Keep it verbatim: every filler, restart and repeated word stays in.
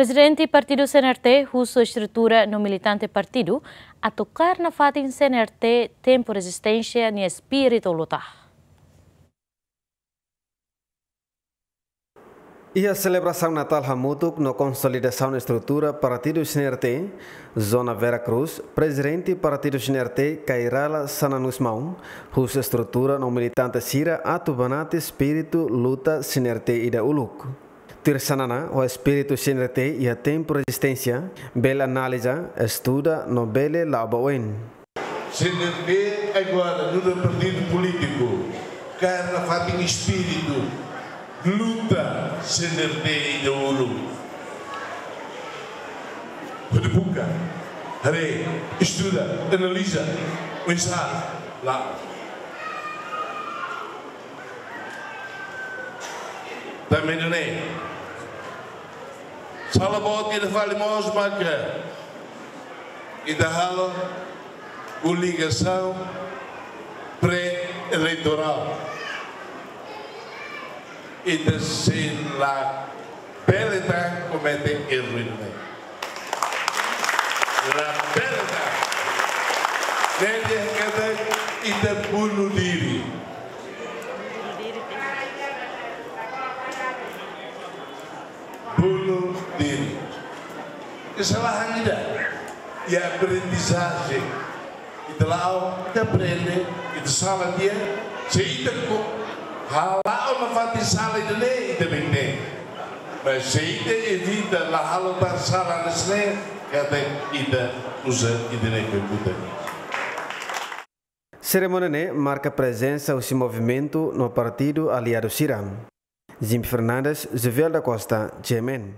Prezidente Partidu C N R T husu estrutura no militante partidu atu kaer nafatin C N R T tempu rezisténsia nia espíritu luta. Iha selebrasaun Natál hamutuk no konsolidasaun estrutura Partidu C N R T, Zona Vera Cruz, Prezidente Partidu C N R T, Kay Rala Xanana Gusmão, husu estrutura no militante sira atu banati espíritu luta C N R T ida uluk. Tuir Xanana, ho espíritu C N R T iha tempu rezisténsia, bele analiza, estuda no bele la'o ba oin. C N R T agora nu'udar partidu polítiku, kaer nafatin espíritu luta C N R T ida uluk. Hodi buka, haree, estuda, analiza, oinsá la'o. Tanba ne'e, sala boot ida fali mós maka ita halo koligasaun pré-eleitorál. Ita sei la bele tan komete erru ida-ne'e. La bele tan. Ne'e dehan katak ita bunuh diri. Bunuh diri. Kesalahan ida. Iha aprendizajen. Ita la'o, ita aprende, ita sala tiha, se ita ko hala'o nafatin sala ida-ne'e, ita benten. Mas se ita evita la halo tan sala hanesan ne'e, katak ita uza ida-ne'e ke buta. Serimónia ne'e marka prezensa husi movimentu no partidu aliadu sira. Jimmy Fernandes, Jovel da Costa, G M N.